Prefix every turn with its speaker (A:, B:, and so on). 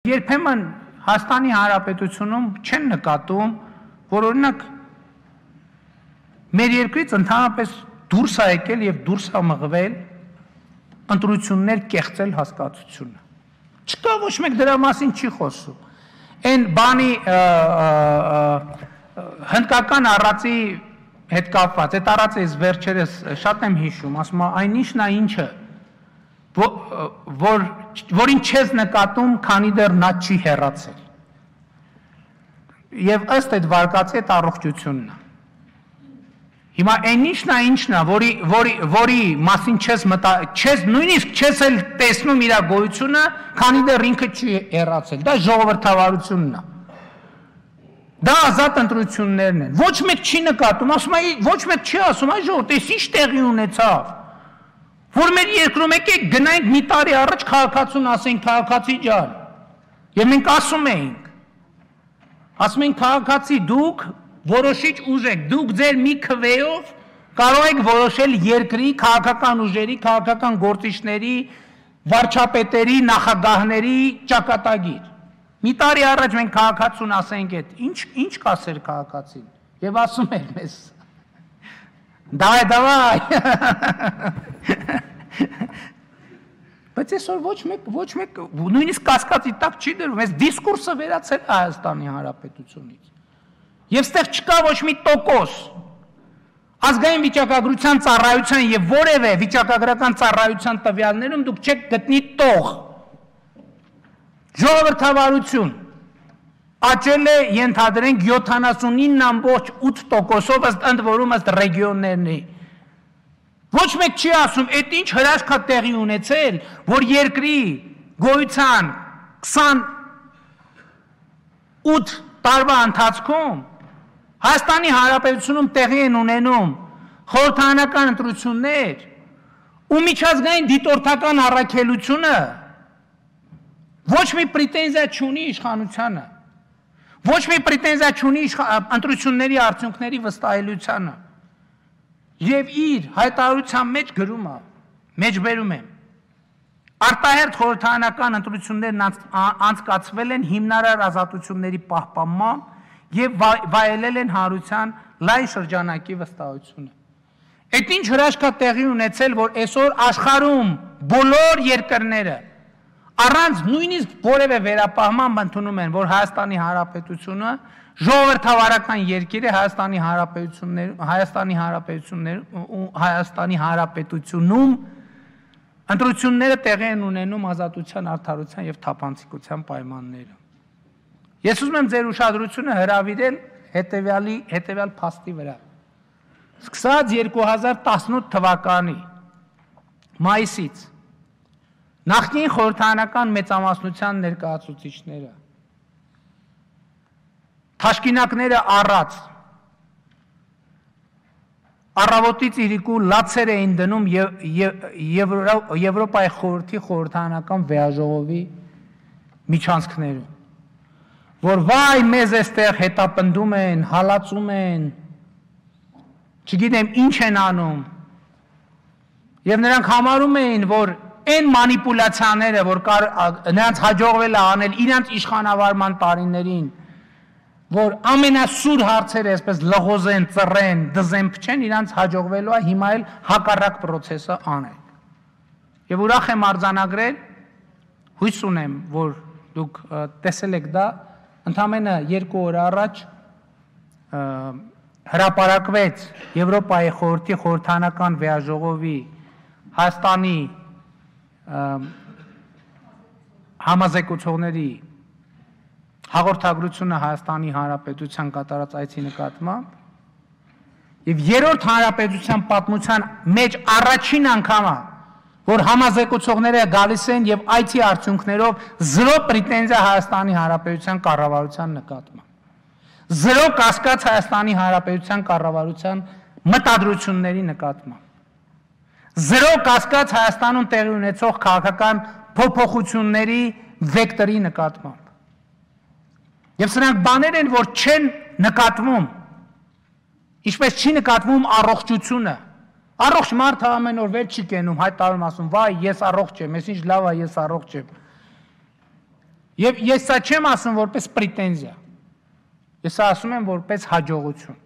A: Երբեմն Հայաստանի Հանրապետությունում չեն նկատում, որ օրինակ մեր երկրից ընդհանրապես դուրս է եկել եւ դուրս է մղվել ընտրություններ կեղծել հասկացությունը։ Չկա ոչ մեկ դրա մասին չի խոսում։ Այն բանի հնդկական առածի հետ կապված, այդ առածը ես վերջերս շատ եմ հիշում, ասում այն ինչն է ինչը, որին չես նկատում, քանի դեռ նա չի հեռացել։ Եվ ըստ այդ վարկածի այդ առողջությունն է։ Հիմա այն ինչն է, որի մասին չես նույնիսկ չես էլ տեսնում իր գոյությունը, քանի դեռ ինքը չի հեռացել։ Դա ժողովրդավարությունն է։ Դա ազատ ընտրություններն են։ Ոչ մեկ չի նկատում, ասում է, ոչ մեկ չի ասում, այ ժողովուրդ, այս ինչ տեղի ունեցավ։ Որ մեր երկրում եկեք գնայինք մի տարի առաջ քաղաքացուն ասենք քաղաքացի ջան։ Եվ մենք ասում ենք քաղաքացի դուք որոշիչ ուժ եք, դուք ձեր մի քվեով կարող եք որոշել երկրի քաղաքական ուժերի, քաղաքական գործիչների, վարչապետերի, նախագահների ճակատագիր։ Մի տարի առաջ մենք քաղաքացուն ասենք այդ, ինչ կասեր քաղաքացին։ Եվ ասում էր մեզ. Դավայ։ Բայց այսօր ոչ մեկ նույնիսկ կասկածի տակ չի դրվում, այս դիսկուրսը վերացել Հայաստանի Հանրապետությունից։ Եվ ստեղ չկա ոչ մի տոկոս ազգային վիճակագրության ծառայության եւ որևէ վիճակագրական ծառայության տվյալներում դուք չեք գտնի տող։ Ժողովրդավարություն աճել է ենթադրենք 79.8%-ով ըստ ընդ որում ըստ ռեգիոններնի։ Ոչ մեկ չի ասում, այդ ինչ հրաշք է տեղի ունեցել, որ երկրի գոյության 28 տարվա ընթացքում Հայաստանի Հանրապետությունում տեղի են ունենում խորհրդարանական ընտրություններ ու միջազգային դիտորդական առաքելությունը ոչ մի պրետենզիա չունի իշխանությանը, ոչ մի պրետենզիա չունի ընտրությունների արդյունքների վստահելիությանը եւ իր հայտարարության մեջ գրում է, մեջբերում է արտահերթ խորհրդարանական ընտրություններն անցկացվել են հիմնարար ազատությունների պահպանման եւ վայելել են հանրության լայն շրջանակի վստահությունը։ Այդ ինչ հրաշք է տեղի ունեցել, որ այսօր աշխարհում բոլոր երկրները առանց նույնիսկ որևէ վերապահման ընդունում են, որ Հայաստանի Հանրապետությունը ժողովրդավարական երկիր է, Հայաստանի Հանրապետությունում ընտրությունները տեղի են ունենում ազատության, արդարության եւ թափանցիկության պայմաններում։ Ես ուզում եմ ձեր ուշադրությունը հրավիրել հետևյալ փաստի վրա։ Սկսած 2018 թվականի մայիսից նախկին խորհրդարանական մեծամասնության ներկայացուցիչները թաշկինակները առած առավոտից իրիկու լացեր էին դնում Եվրոպայի խորհրդի խորհրդարանական վեաժողովի միջանցքներում, որ վայ մեզ այստեղ հետապնդում են, հալածում են, չգիտեմ ինչ են անում, եւ նրանք համարում էին, որ այն մանիպուլյացիաները, որ նրանց հաջողվել է անել իրենց իշխանավարման տարիներին, որ ամենասուր հարցերը այսպես լղոզեն, ծռեն, դզեն, փչեն, իրանց հաջողվելու է հիմա էլ հակառակ պրոցեսը անել։ Եվ ուրախ եմ արձանագրել, հույս ունեմ, որ դուք տեսել եք դա, ընդամենը 2 օր առաջ հրապարակվեց Եվրոպայի խորհրդի խորհրդարանական վեաժողովի Հայաստանի համազեկուցողների հաղորդագրությունը Հայաստանի Հանրապետության կատարած այցի նկատմամբ եւ երրորդ հանրապետության պատմության մեջ առաջին անգամը, որ համազեկուցողները գալիս են եւ այցի արդյունքներով 0 պրետենզիա Հայաստանի Հանրապետության կառավարության նկատմամբ, 0 կասկած Հայաստանի Հանրապետության կառավարության մտադրությունների նկատմամբ, 0 կասկած Հայաստանում տեղի ունեցող քաղաքական փոփոխությունների վեկտորի նկատմամբ։ Եվ սրանք բաներ են, որ չեն նկատվում, ինչպես չի նկատվում առողջությունը։ Առողջ մարդը ամեն օր վեր չի կենում, հայտարարում ասում, վայ, ես առողջ եմ, ես ինչ լավ է, ես առողջ եմ։ Եվ ես սա չեմ ասում որպես պրետենզիա։ Ես ասում եմ որպես հաջողություն։